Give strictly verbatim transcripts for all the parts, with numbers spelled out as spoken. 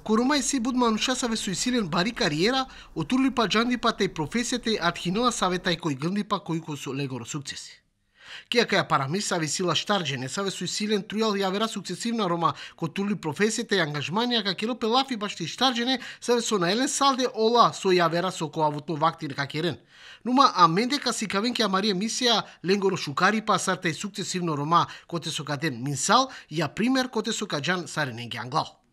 Корумај си буд манушасаве со исилен бари кариера, отурли па джандипа тај професијата и атхинова савета и кој гндипа кој кој со легоро сукцеси. Кија каја парамисаве сила штарджене саве со исилен трујал јавера сукцесивна рома кој турли професијата и ангажманија ка Киро Пелафи башти штарджене саве со наелен салде ола со јавера со коавутно вактин какерен. Нума аменде ка си кавенке Марија мисија ленгоро шукари па сарта и сукцесивно рома коте со каден минсал ја пример коте со каджан сарененге англал.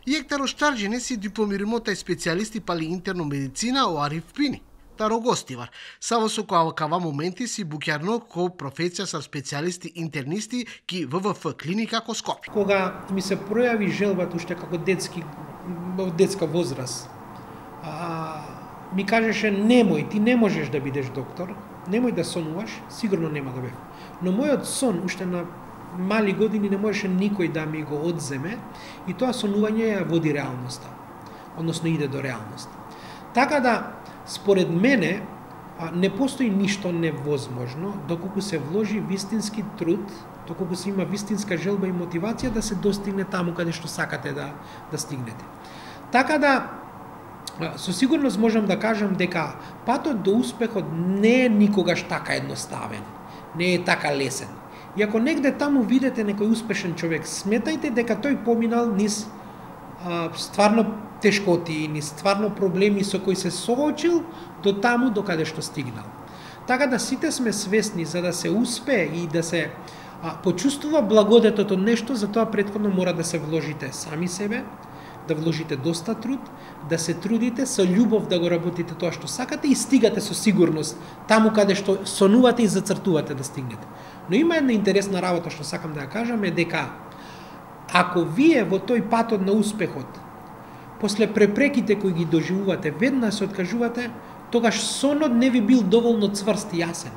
Иектаро штарджене си дипломирамота и специјалисти пали интерно медицина о Ариф Пини. Таро гостивар. Само со која кава моменти си букјарно ко професија са специјалисти интернисти ки В В Ф клиника ко Скопје. Кога ми се пројави желбата уште како детски детска возраст, а, ми кажеше немој, ти не можеш да бидеш доктор, немој да сонуваш, сигурно нема да бев. Но мојот сон уште на мали години не можеше никој да ми го одземе и тоа сонување ја води реалноста, односно иде до реалност. Така да, според мене, не постои ништо невозможно доколку се вложи вистински труд, доколку се има вистинска желба и мотивација да се достигне таму каде што сакате да, да стигнете. Така да, со сигурност можам да кажам дека патот до успехот не е никогаш така едноставен, не е така лесен. И ако негде таму видите некој успешен човек, сметајте дека тој поминал низ а, стварно тешкоти, низ стварно проблеми со кои се соочил до таму до каде што стигнал. Така да сите сме свесни за да се успее и да се а, почувствува благодетот од нешто, за тоа претходно мора да се вложите сами себе, да вложите доста труд, да се трудите со љубов да го работите тоа што сакате и стигате со сигурност таму каде што сонувате и зацртувате да стигнете. Но има една интересна работа што сакам да ја кажам е дека ако вие во тој патот на успехот после препреките кои ги доживувате веднаш се откажувате, тогаш сонот не ви бил доволно цврст и јасен.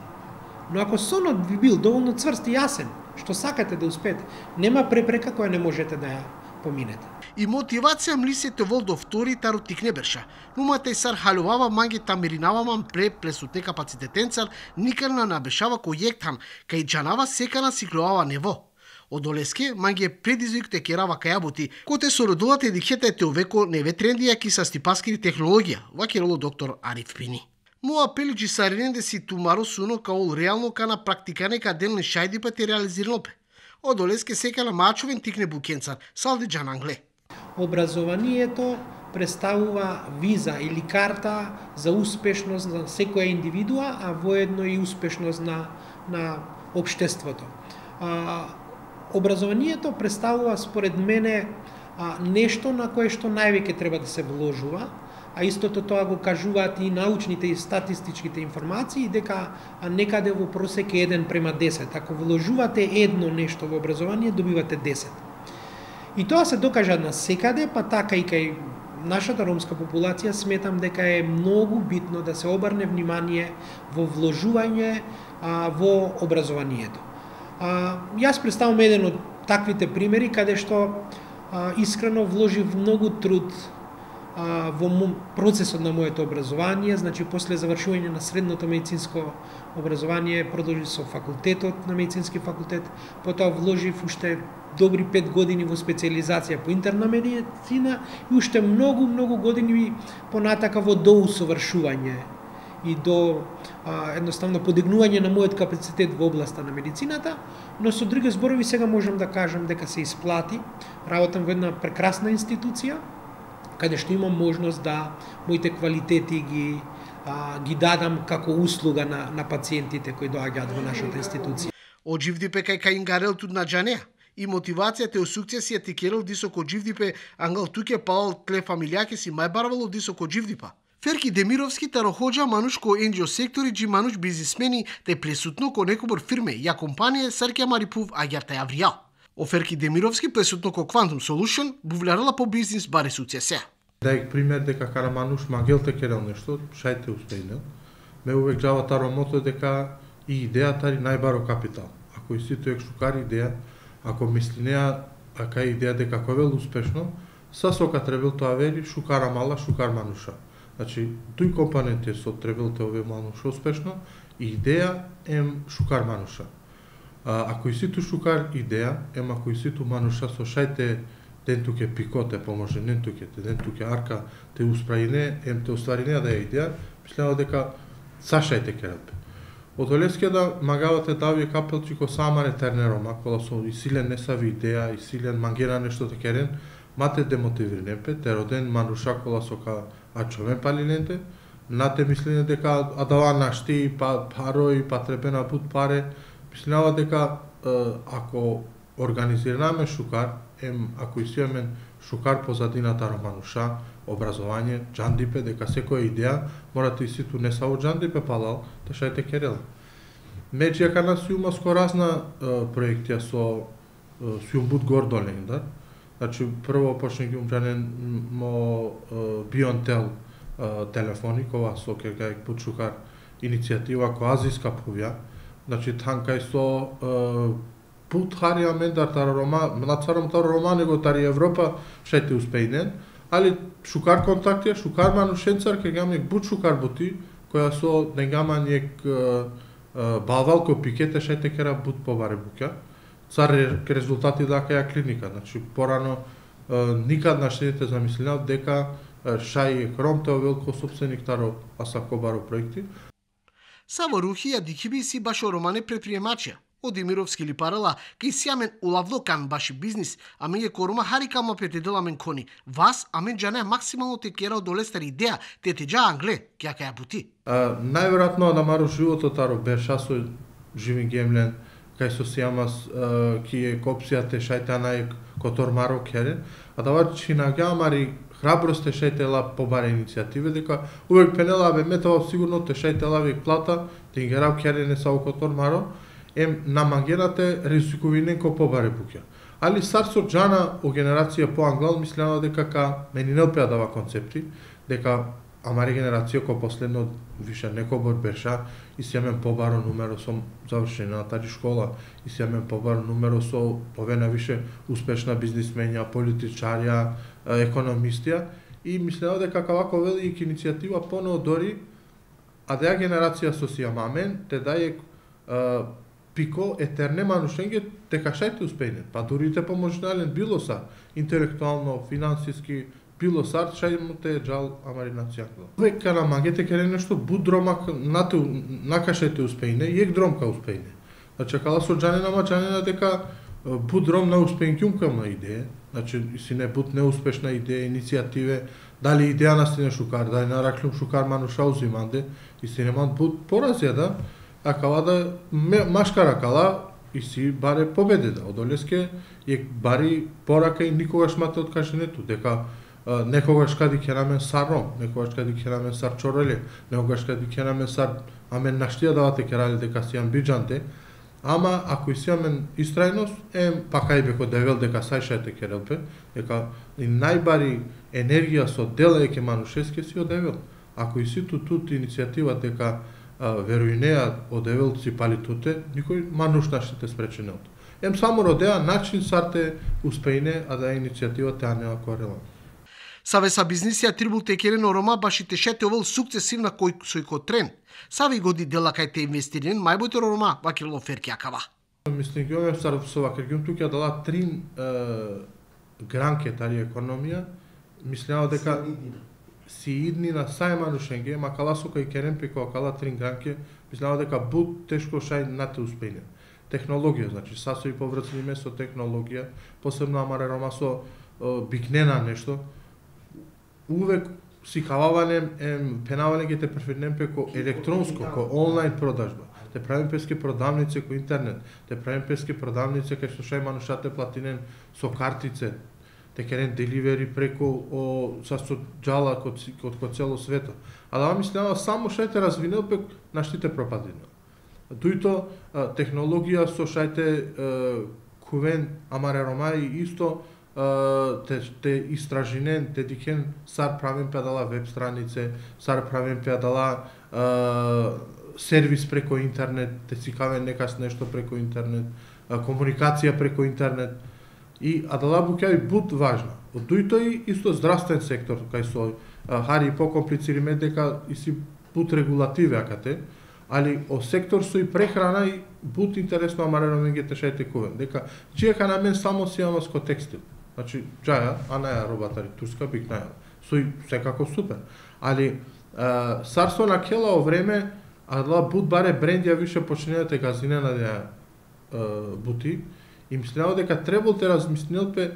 Но ако сонот ви бил доволно цврст и јасен, што сакате да успеете, нема препрека која не можете да ја поминете. И мотивација млисете вол до втори таро тикне берша. Нумата и сар халувава манги тамиринаваман пре плесутне капацитетенцар никарна набешава кој ектам, кај джанава секана сиклувава нево. Одолеске манги предизвик те керава кајаботи, коте со родулата едикета те овеко неве трендија ки са стипаскири технологија, вакероло доктор Ариф Пини. Му апелиджи сарененде си тумаро суно каол реално кана практикане ка делне шајди па те реализирано пе. Одолеске секана мачовен тикне букенцар, салде джан англе. Образованието представува виза или карта за успешност на секоја индивидуа, а воедно и успешност на, на општеството. А, образованието представува според мене а, нешто на кое што највеќе треба да се вложува, а истото тоа го кажуваат и научните и статистичките информации, дека некаде во просек е еден према десет. Ако вложувате едно нешто во образование, добивате десет. И тоа се докажа на секаде, па така и кај нашата ромска популација сметам дека е многу битно да се обрне внимание во вложување а, во образованието. А, јас представам еден од таквите примери каде што а, искрено вложив многу труд а, во процесот на моето образование, значи после завршување на средното медицинско образование продолжив со факултетот на медицински факултет, потоа вложив уште добри пет години во специјализација по интерна медицина и уште многу, многу години понатака во доусовршување и до а, едноставно подигнување на мојот капацитет во областа на медицината, но со други зборови сега можам да кажам дека се исплати. Работам во една прекрасна институција, каде што имам можност да моите квалитети ги, а, ги дадам како услуга на, на пациентите кои доаѓаат во нашата институција. Одживдипе кај кај ингарел туд на джанеа. И мотивацијата и сукцесија ти керел дисоко дживдипе ангал туке паал тле фамилијаке си мајбарвало дисоко дживдипа. Ферки Демировски тароходжа мануш ко ен џи о сектори джи мануш бизнисмени те плесутно ко некобор фирме ја компанија Саркија Марипув аѓарта јавријал. Оферки Демировски плесутно ко Quantum Solution бувлярала по бизнис баре суцесија. Дај пример дека кара мануш магел те керел нешто, шајте успејнел. Ме увек жава таро мото дека и идеја тари најбаро капитал. Ако и сите екшукари идеја, ако мисли неа, ака идеја дека ковел успешно, са сока требел тоа вери шукара мала, шукар мануша. Значи, тој компонент е со требел те ове мануша успешно, и идеја ем шукар мануша. А, ако и ситу шукар идеја, ем ако и ситу мануша со шајте ден туке пико те поможе, ден туке, ден туке арка те усправине, ем те устварине да ја идеја, мислеа дека сашајте керапе. Од Олескија да магавате дави капелчи ко самаре тернерома, кола со исилен не сави идеја, исилен мангера нешто те керен, мате демотивирнепе, те роден мануша кола со ка ачовен палиненте, нате мислене дека адава нашти, па парој, па требена бут паре, мислеава дека ако организираме шукар, ем ако исијаме шукар позадината романуша, образование, джандипе, дека секоја идеја морате и ситу не само джандипе палал, те шајте керел. Меѓу јака нас има скоразна проектија со Сјумбут Гордолен, да? Значи, прво почне ги умджанен мо Бионтел телефони, кога со кегајк Бучукар иницијатива која азиска повја, значи танкај со пут харија мендар тара Рома, нацарам тара Рома, него тари Европа, шајте успејнен, али шукар контактија, шукар манушенцар, ке гамек Буч шукар бути, која со негама ниек балвалко пикете, шајте кера бут побаре буќа. Цар резултати дака ја клиника, значи порано никад наштедите замислинав дека шај хромте овелко собственик таро асакобаро проекти. Саво Рухија дикиби си башо романе предприемачија. Од Емировски ли парала, кај сјамен улавлокан баши бизнис, а меѓе корума харикама петеделамен кони. Вас, а мен джане максимално те кера од олестар идеја, те те джа англе, кја каја бути. Најверојатно да мару живото таро берша со живин гемлен, кај со сиамас ки е копсија те шајта најк котор маро керен, а да чина гамари храброст те шајтела побаре иницијативе, дека увек пенела бе метава сигурно те шајтела век плата, те ингерав керене са у котор маро, ем намагерате ризиковинен ко побаре буќа. Али сар со джана о генерација по англал мислено дека ка мени не опеа дава концепти, дека амари генерација ко последно више неко бор берша и сјамен побаро нумеро со завршење на тари школа, и сјамен побаро нумеро со повена више успешна бизнисменја, политичарја, економистија, и мислено дека вако велика иницијатива понео дори, а да ја генерација со сијамамен, те даје пико етерне манушенге дека шајте успејне, па дури те поможнален било са, интелектуално, финансиски, било сар, шај му те джал амаринација. Века на магете кере нешто будромак нате накашете успејне, јек дромка успејне. Значи кала со джанена маџанена дека будром на успејнкјумкам на идеја, значи си не буд неуспешна идеја, иницијативе, дали идеја настине шукар, дали нараклюм шукар мануша узиманде, и си неман буд поразија да, а кала да машкара кала и си баре победе да. Од Олеске е бари порака и никогаш мате откаженето, дека некогаш кади ќе намен сар ром, некогаш кади ќе намен сар чореле, некогаш кади ќе намен сар амен наштија давате керале дека си амбиджанте, ама ако и си амен истрајност, ем пака и беко девел дека сајшајте керелпе, дека и најбари енергија со дела еке манушеске си одевел. Ако и си ту тут иницијатива дека веруинеа одевелци палитуте, никој мануш наштите спреченелто. Ем само родеа начин сарте успејне, а да е иницијативата а не акварела. Саве са бизнисија трибул текерен орома башите шете овел сукцесивна кој сој ко трен. Сави годи дела кај те инвестирен мајботер орома вакирло ферки акава. Мислим ги ове сар со вакиргјум тука дала три гранке тари економија. Мислеа дека си идни на сај манушенге, ма кала сука и керен пеко кала три гранке, мислеа дека буд тешко шај нате успејне. Технологија, значи сасои поврцни со технологија, посебно амаре рома со бигнена нешто. Увек си хававанем, ем, пенаване ги те префернем пеко електронско, ко онлайн продажба. Те правим пески продавници ко интернет, те правим пески продавници кај што шај манушате платинен со картице, те керен деливери преко о, са со джала код, код, код цело свето. А да мислева само шајте развинел пек наштите пропадина. Дуито технологија со шајте кувен амаре ромаи исто те, те истражинен, те дикен сар правим педала веб странице, сар правим педала сервис преко интернет, те си кавен некас нешто преко интернет, комуникација преко интернет. И адала буќави буд важна. Од дуито и исто здравствен сектор, кај со хари покомплицириме дека и си буд регулативе акате, али о сектор со и прехрана и буд интересно амарено меѓу тешајте кувен. Дека чиека на мен само си ама ско текстил. Значи, џаја, а не ја робатари турска бик наја. Сој секако супер. Али царство на келао време, адла буд баре брендија више починете газинена да бути, и мислео дека требал те размислилпе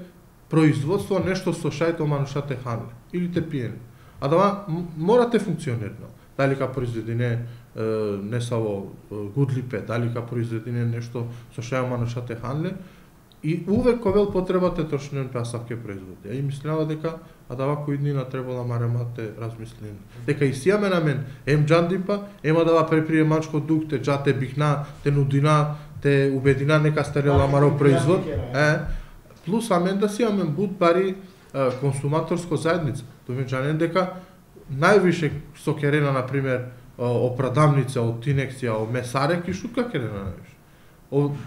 производство нешто со шајто манушате ханле или те пиени. А да морате функционирно. Дали ка произведене не само гудлипе, дали ка произведене нешто со шајто манушате ханле, и увек ковел потребате точно пасавке производи. И мислеа дека а да кој днина требала маремате размислени. Дека и сијаме на мен ем џандипа, ема да преприе мачко дук, те џате бихна, те нудина, те убедина нека стерела маро производ. Е, плюс амен да сијаме буд бари консуматорско заедница. Довеќе дека највише со керена, на пример, опрадавница од Тинексија, од месаре, ки шутка керена највише.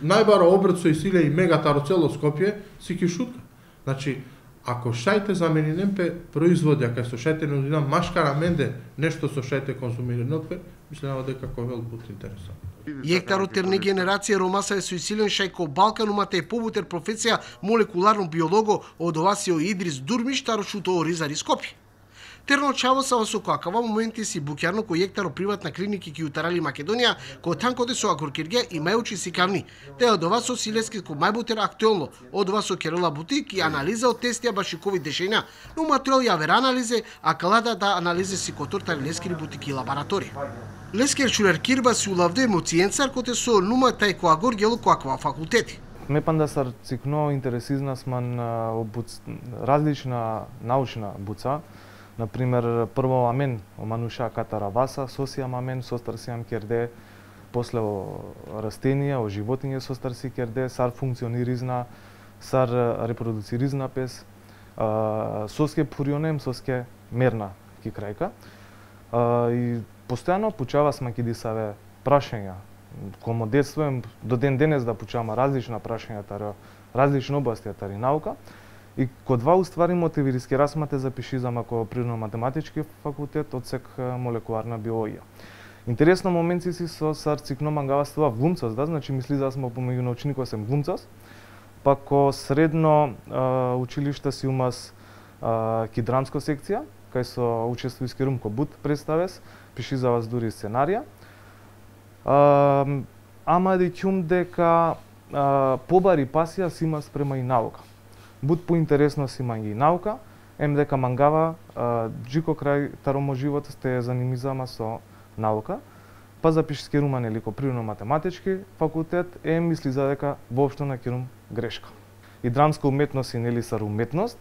Најбаро обрт со Исиле и мегатаро цело Скопје си ки шутка. Значи, ако шајте заменинем пе производи, кај со шајте нудина машкара менде нешто со шајте консумирано пе, мислам дека ковел бут интересант. Јектаро терни генерација ромасаве со Исилен шајко Балкан умате е побутер професија молекуларно биолого од Овасио Идрис Дурмиш тарошуто Ризари Скопје. Терно чаво са во сокакава моменти си букјарно кој јектаро приватна клиники ки утарали Македонија, кој танкоде со агуркиргија и мајучи си кавни. Те од ова со Силески ко мајбутер актуелно, од ова со Керела Бутик и анализа од тестија баши ковид дешења, но материјал ја вера анализе, а калада да анализе си котортари Лескери бутики и лабораторија. Лескер Чурер Кирба си улавде емоцијенцар коте со нума тај кој агор гело коаква факултети. Ме панда сар цикно интересизна сман различна научна буца. Например, прво амен омануша катара васа, сосија мамен, состарсијам керде, после о растенија, о животиње состарси керде, сар функциониризна, сар репродуциризна пес, соске пурионем, соске мерна ки крајка. И постојано пучава сма ки дисаве прашања. Комо детствуем, до ден денес да пучаваме различна прашања, таро, различни области тари наука. И кod два уствари мотивириски расмате запишизам ако природно-математички факултет од сек молекуларна биологија. Интересно моменти си со сар цикно мангаваства глумцас, да, значи мисли да смо помеѓу научникот сем глумцас, па ко средно а, училиште си умас а, ки драмско секција, кај со учествујски румко бут представес, пиши за вас дури сценарија. А, ама да ќум дека а, побари пасија си има спрема и наука. Буд поинтересно си има и наука, ем дека мангава а, джико крај таромо живот сте занимизама со наука, па запиши керума нели ко природно-математички факултет, е мисли за дека воопшто на керум грешка. И драмска уметност и нели сар уметност,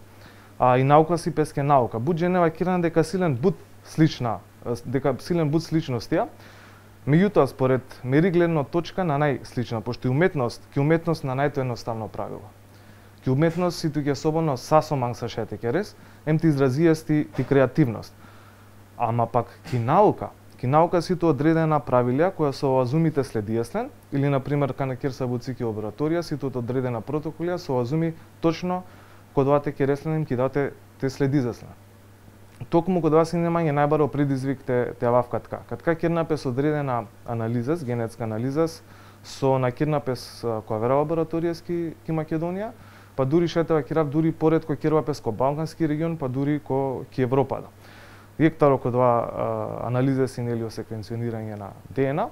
а и наука си песке наука. Буд женева киран дека силен буд слична, дека силен буд сличностија, меѓутоа според мери гледна точка на најслична, пошто и уметност, ки уметност на најто едноставно правило. Ки уметност си туѓе собоно сасоманг са шете керес, ем ти изразијасти ти креативност. Ама пак ки наука, ки наука си то одредена правилја која со оазумите следиеслен, или на пример кана кер са буцики лабораторија си то одредена протоколија со оазуми точно код вате кересленим ки дате те следизеслен. Токму код вас и немање најбаро предизвик те те ававкатка. Катка кернапес одредена анализас, генетска анализас со на кернапес која вера лабораторијски ки Македонија, па дури шетева кирав дури поред кој кервапес ко Балкански регион, па дури ко ки Европа. Јектаро ко два анализа си нели секвенционирање на Д Н А,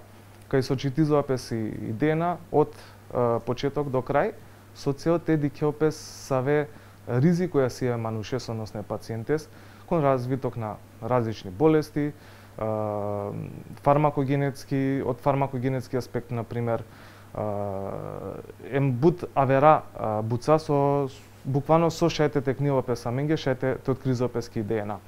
кај со читизоапес и Д Н А од а, почеток до крај, со цел те дикеопес саве ризик која си е манушес, односно пациентес, кон развиток на различни болести, а, фармакогенетски, од фармакогенетски аспект, на пример, ем буд авера буца со буквално со шајте текнилопес аменге, шајте те откризопески Д Н А.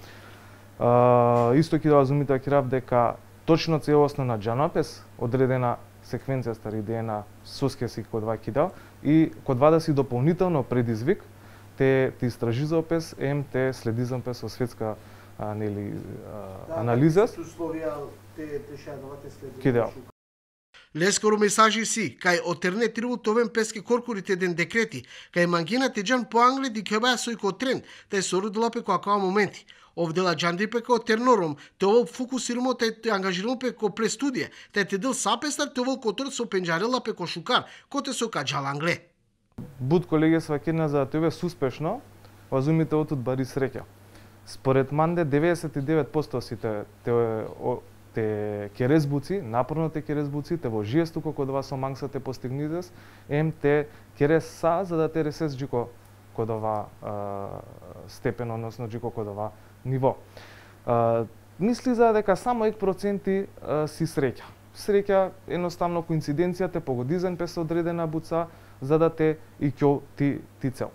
Uh, исто ки да разумите кирав дека точно целосно на джанопес одредена секвенција стари Д Н А соске си код два кидал и код два да си дополнително предизвик те те истражизопес ем те следизампес со светска а, нели а, анализа кидал. Лескоро месажи си, кај отерне трибут овен песке коркурите ден декрети, кај мангина теджан по англе ди кебаја сој ко трен, тај сорудила пе која моменти. Овдела джанди пе ко тернором, те овол фокусирмо те те ангажирано пе ко престудија, те те дел сапестар те овол котор со пенџарела пе ко шукар, коте со каджал англе. Буд колеги сваќена за да те увес успешно, возумите отут бари среќа. Според Манде деветдесет и девет проценти сите те, те керезбуци, напорно те керезбуци, те во жиестуко код ова со мангса те постигнизес, ем те кереса за да те ресес джико код ова степен, односно джико код ова ниво. А, мисли за дека само ек проценти а, си среќа. Среќа едноставно коинциденција те погоди за пес одредена буца за да те и ќе ти ти цел.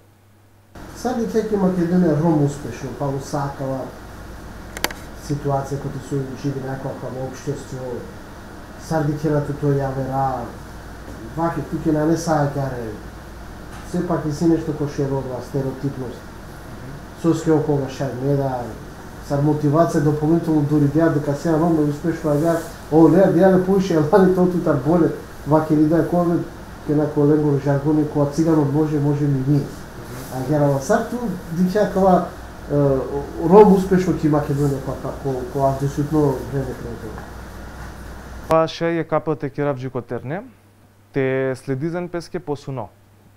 Сади дека Македонија ром успешно, па го сакала ситуација која се живи некоја во општество, сади ќе тој ја вера, ваки туке на не саѓаре, сепак и си нешто кој ше родила стереотипност. Со скео кога шај не да сар мотивација дополнително дури деа дека сега ром успешно ја о не деа не поише елани тоту тар боле, ваки ли да кој ке на колегор жаргони која циганот може може ми ние. А герава сарту дича кога ром успешно ки Македонија која која абсолютно време креативно. Па ше е капате керавџи котерне, те следизен песке посуно.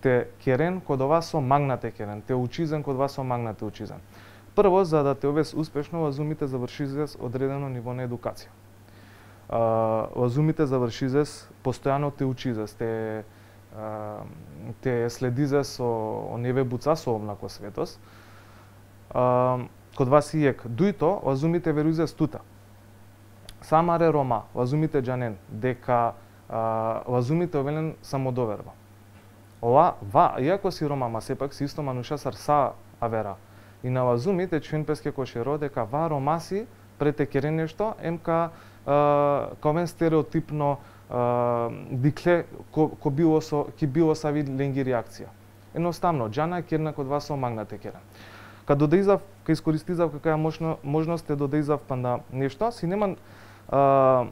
Те керен код ова со магнате керен, те учизен код ова со магнате учизен. Прво, за да те овес успешно, возумите завршизес одредено ниво на едукација. Возумите завршизес, постојано те учизес, те те следизе со оневе буца со овнако светос. Код вас и ек дуито, возумите верузес тута. Самаре Рома, возумите джанен, дека возумите овелен самодоверба. Ова, ва, иако си Рома, ма сепак си исто мануша сар са авера. И на вазумите чвин песке кошеро дека ва ромаси прете кере нешто, емка ковен стереотипно дикле ко, ко било со ки било са вид ленги реакција. Едноставно џана керна код вас со магнате керен. Кад додејзав, кај искористизав каква можно можност е додејзав панда нешто, си неман а,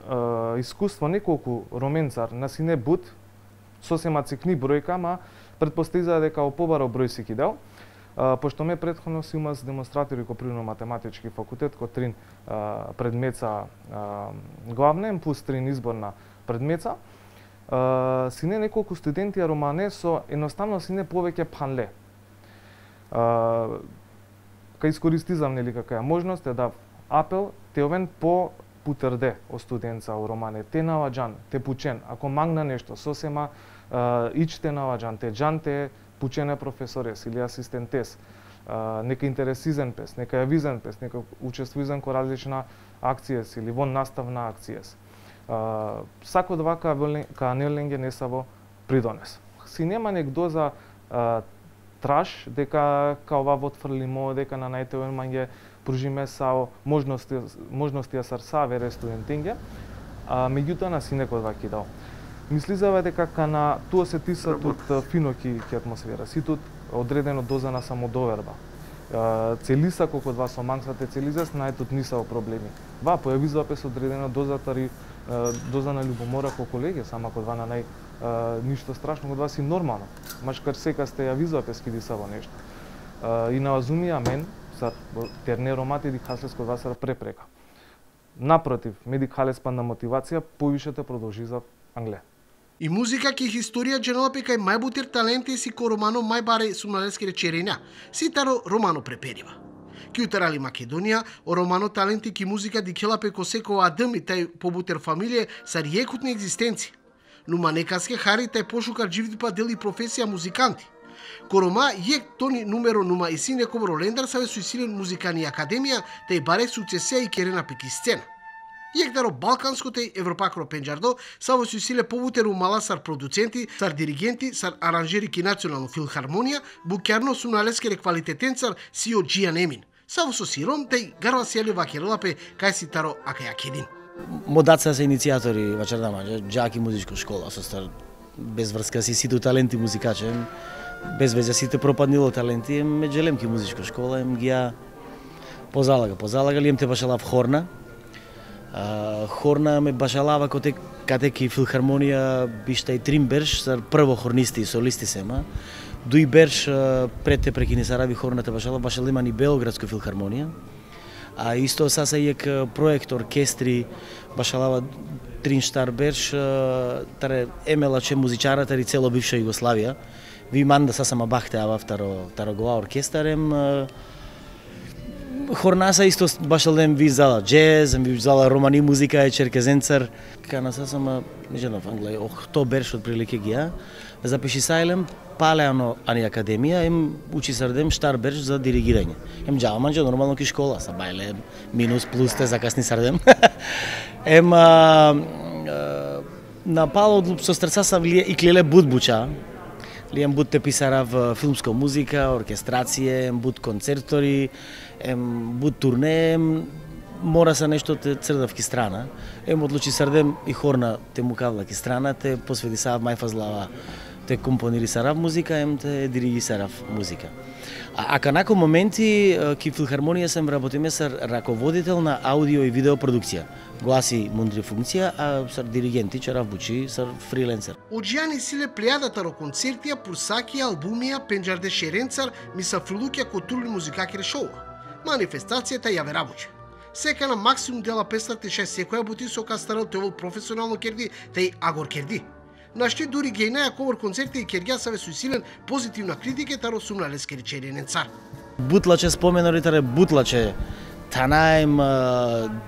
а, искуство неколку роменцар на сине бут сосема цикни бројка, ма предпоставува дека о побаро број си кидел. Uh, пошто ме претходно си умаз демонстратори ко природно-математички факултет, ко трин uh, предмеца uh, главнен, плюс трин изборна предмеца, uh, си не неколку студенти а романе со едноставно си не повеќе панле. Uh, кај искористизам нели каква можност е да апел те овен по путерде о студенца о романе, те наладжан, те пучен, ако магна нешто, сосема uh, ичте наладжан, те джан те пучене професорес или асистентес, а, нека интересизен пес, нека јавизен пес, нека учествуизен ко различна акцијес или вон наставна акцијес. А, сако двака ка Неленге не са во придонес. Си нема нек доза а, траш дека ка ова отфрлимо, дека на најтевен манге пружиме сао можности можности сар са вере студентинге, а меѓутоа на си некој два кидал. Мисли за дека ка на тоа се тиса тут фино ки ки атмосфера, си тут одредено доза на самодоверба. Целиса колку два со мангсате целизес, нај тут ниса проблеми. Ва појавизува пес одредено доза тари доза на љубомора ко колеги, сама кod два на нај ништо страшно кod вас и нормално. Машкар сека сте јавизува пес ки диса во нешто. И на вазумија мен са терне ромати ди хаслес кod вас препрека. Напротив, медик халес панда мотивација повише те продолжи за Англија. И музика ки историја дженелапе кај мајбутир таленти си ко романо мајбаре сумналески речерења, си таро романо преперива. Ки утерали Македонија, о романо таленти ки музика дикелапе ко секоја адъм и тај побутер фамилија са риекутни екзистенци. Нума некаске хари тај пошукар живдипа дели професија музиканти. Ко рома јек тони нумеро нума и сине кобро лендар саве суисилен музикани академија, тај баре суцесија и керена пеки сцена. Јекдаро балканското и европакро пенџардо само се усиле повутеру мала сар продуценти, сар диригенти, сар аранжери ки национално филхармонија, букјарно сумналескере квалитетенцар Сио Джијан Емин. Само со сиром тај гарва сели вакерелапе кај си таро ака јакедин. Модаца се иницијатори вачердама, џаки музичка школа со стар без врска си сите таленти музикачи, без веќе сите пропаднило таленти, ме джелемки музичка школа, ем ги позалага, позалага ли ем те башалав хорна. Uh, хорна ме башалава коте катеки филхармонија бишта и трим берш сар прво хорнисти и солисти сема. Дуи берш uh, пред те прекини сарави хорната башала башалимани Белградска филхармонија. А исто са се јек проект оркестри, башалава Тринштар Берш, таре емела че музичара тари цело бивша Југославија. Ви манда са сама бахте ава второ второ гова оркестарем. Хорнаса исто башалдем ви зала джез, ви зала романи музика е черкезенцар. Кана са сама нежено в Англија, ох, то Берш отприлике гија. Запиши сајлем Палеано ани академија, ем учи сардем Штар Берш за диригирање. Ем джава манџа нормално ки школа, са бајле минус плюс те закасни сардем. Ем а, а, на Пало со стрца сам лие и клеле буд буча. Лием буд те писарав филмска музика, оркестрација, ем буд концертори, ем буд турне, мора са нешто те црдав ки страна. Ем одлучи сардем и хорна те мукавла ки страна, те посвети сав мајфазлава, те компонири сарав музика, ем те дириги сарав музика. А, а канако моменти ки филхармонија сам работиме сар раководител на аудио и видео продукција. Гласи мундри функција, а сар диригенти чарав бучи сар фриленсер. Оджијани силе плејадата ро концертија, пурсаки, албумија, пенџарде шеренцар, ми са фрилуќа културни музикаки решова. Манифестацијата ја верабуче. Сека на максимум дела песната ше секоја бути со кастарел тевол професионално керди, теј агор керди. Нашти дури гејнаја ковор концерти и кергја саве суисилен позитивна критика таро сумна лескери черенен цар. Бутлаче споменори таре бутлаче танаем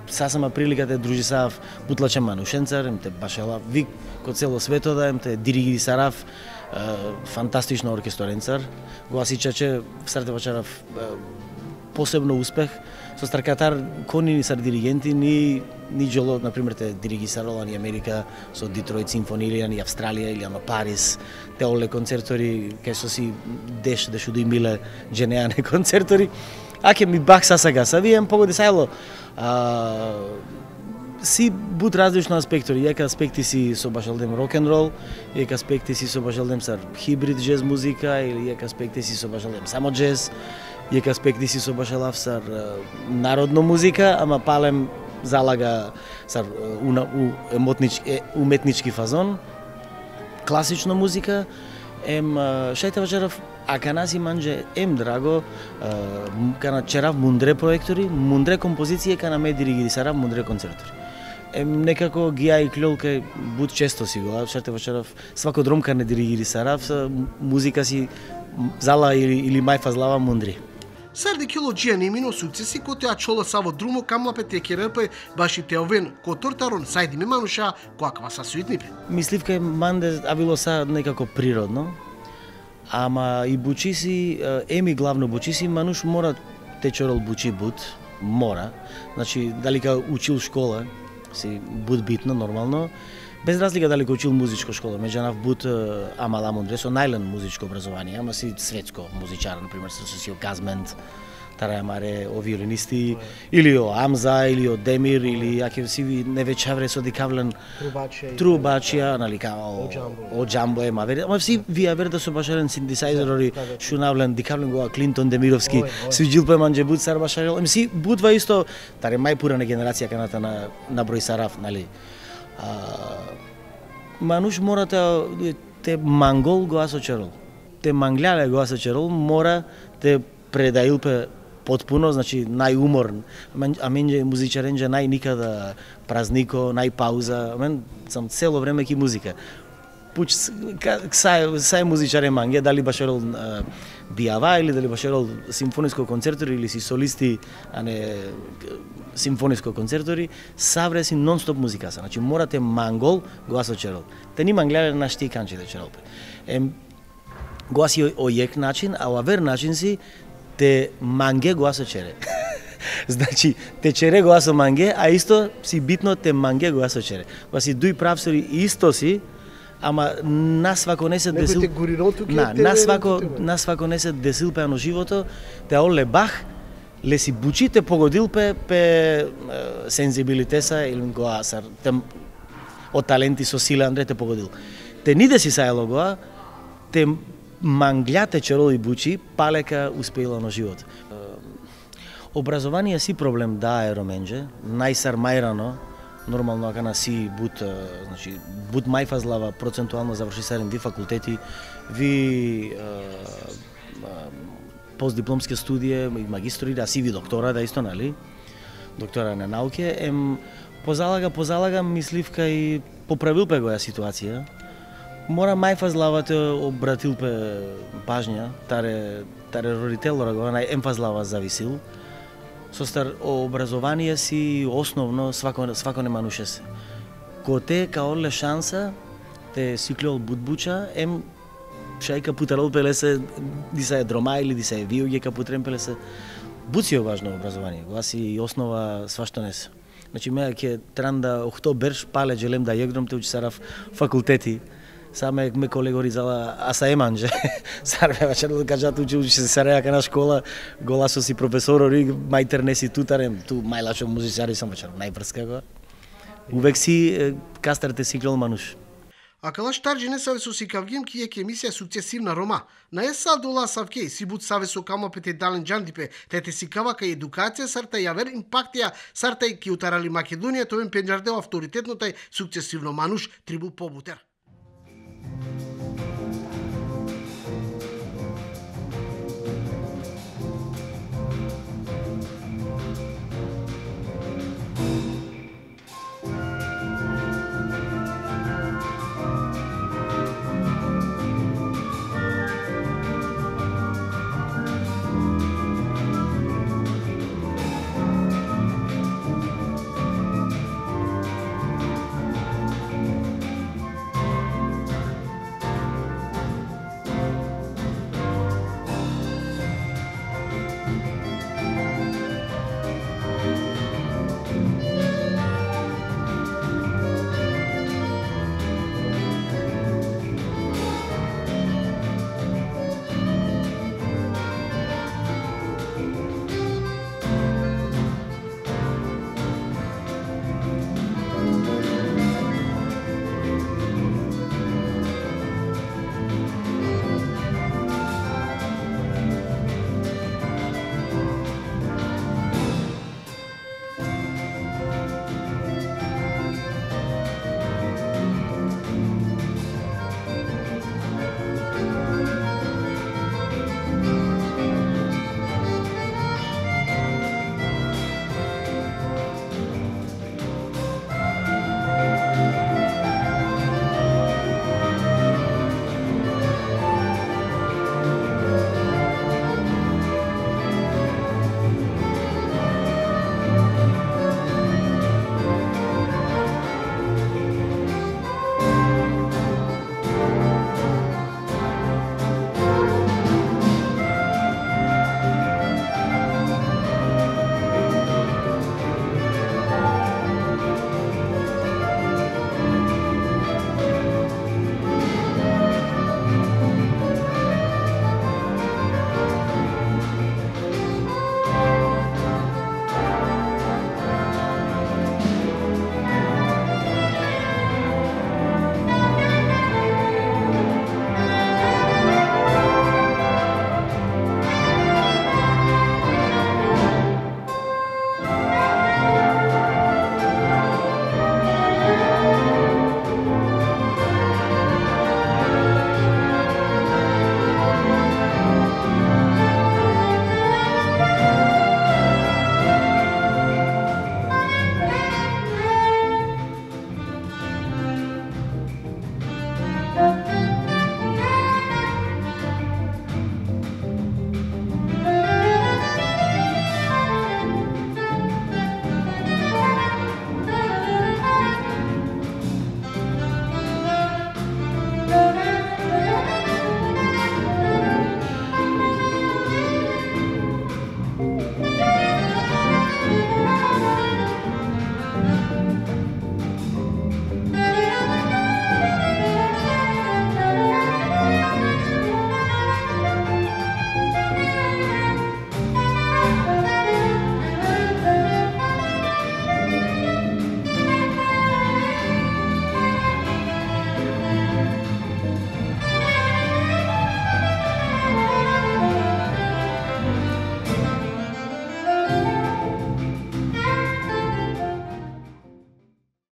сасама прилика те дружи сав бутлаче манушенцар, ем те башела вик ко цело свето да ем те дириги сарав фантастично оркесторенцар. Гласичаче сарте бачарав посебно успех со старкатар кони сар диригенти ни ни джоло на пример те дириги сарола ни Америка со Детройт симфонија ни Австралија или на Париз те оле концертори кај со си деш дешу да имиле дженеане концертори. Аке ми бах сасага са вием погоди сајло а, си буд различно аспектори, јака аспекти си со башалдем рок-н-рол, јака аспекти си со башалдем сар хибрид джез музика или јака аспекти си со башалдем само джез, јака аспекти си со башалав сар народно музика, ама палем залага сар у, у емотнички, уметнички фазон, класична музика, ем шајте вачарав, а канаси манџе ем драго, кана черав мундре проектори, мундре композиција, кана ме диригири сарав мундре концертори. Ем некако гија и клјолка буд често си го, шајте вачарав, свако дромка не диригири сарав, музика си зала или, или мајфазлава мундри. Сарди килоджија не имино суцеси кој ја чола саво друмо камлапе те керепе баши теовен котортарон сајди ме мануша коаква са суитнипе. Мисливка е манде авило са некако природно, ама и бучиси, еми главно бучиси, мануш мора те чорол бучи буд, мора. Значи, дали ка учил школа, си буд битно, нормално, без разлика дали ка учил музичко школа, меѓанав буд амала мундре со најлен музичко образование, ама си светско музичар, например, со си Казмент, Тараја Маре, о виолинисти, или о Амза, или о Демир, или аке си ви невечавре со дикавлен трубачија, нали, као о Джамбо е мавер, ама си вие вере да со башарен синтесајзерори, шунавлен, дикавлен гоа Клинтон Демировски, свиџил по манџе буд сар башарел, ами си будва исто, таре мај пурана генерација каната на, на број сараф, нали. А, мануш мора те, те мангол го асочерол, те манглјале го асочерол, мора те предаилпе потпуно, значи најуморн, а менџе музичаренџе најникада празнико, најпауза, мен сам цело време ки музика. Пуч, сај, сај музичаре манге, дали башерол бијава или дали башерол симфониско концертори или си солисти, а не симфониско концертори, савре си нон-стоп музика са. Значи морате мангол го асочерол. Те ни манглјале на шти канчи да черолпе. Ем, го аси о јек начин, а о авер начин си те манге го асочере. Значи, те чере го асо манге, а исто си битно те манге го асочере. Па си дуј правсори исто си, ама нас свако не се десил... На, нас свако, нас свако не се десил пе ано живото, те оле бах, ле си бучи те погодил пе, пе сензибилитеса или го асар, те од таленти со сила Андре те погодил. Те ниде си сајло гоа, те манглјате чероли бучи, палека успеила на живот. Образование си проблем да е роменџе, најсар мајрано, нормално ако на си буд, значи буд мајфазлава процентуално заврши сарен ви факултети, ви постдипломски студија, магистри, да си ви доктора, да исто, нали? доктора на науке, ем позалага, позалага мисливка и поправил пе го ја ситуација. Мора мајфа злавате обратил пе пажња, таре, таре родител рагована, ем фазлава зависил. Со стар образование си основно свако, свако не мануше се. Ко те каоле шанса, те сиклол будбуча, ем шајка путарол пелесе, диса е дрома или диса е виоге капутрен пелесе. Буцио важно образование, го си основа свашто не се. Значи ме ќе тран да охто берш пале желем да јегром те учи сарав факултети. Саме ме колегори зала аса еманже. Сарве вечер да кажат учи учи се сареака на школа, голасо си професорори, мајтер не си тутарем, ту мајлачо музичари сам вечер најврска го. Увек си кастрате сиклол мануш. А кала штарджи не саве со сикавгим ки е емисија сукцесивна Рома. На еса дола савке си бут саве со камопете дален джандипе, тете сикава кај едукација сарта јавер импактија сарта и ки утарали Македонија, тоа им пенџардео авторитетнотай сукцесивно мануш трибу побутер.